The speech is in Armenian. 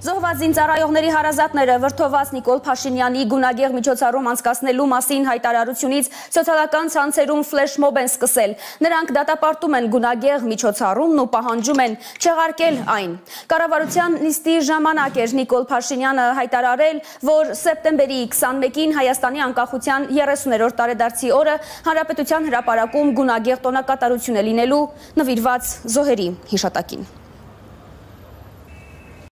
Զոհված զինծառայողների հարազատները վրդոված Նիկոլ Փաշինյանի գունագեղ միջոցառում անցկացնելու մասին հայտարարությունից սոցիալական ցանցերում ֆլեշմոբ են սկսել։ Նրանք դատապարտում են գունագեղ միջոցառումն ու պահանջում են չեղարկել այն։ Կառավարության նիստի ժամանակ էր Նիկոլ Փաշինյանը հայտարարել, որ սեպտեմբերի 21-ին Հայաստանի անկախության 30-րդ տարեդարձի օրը Հանրապետության հրապարակում գունագեղ տոնակատարություն է լինելու նվիրված զոհերի հիշատակին։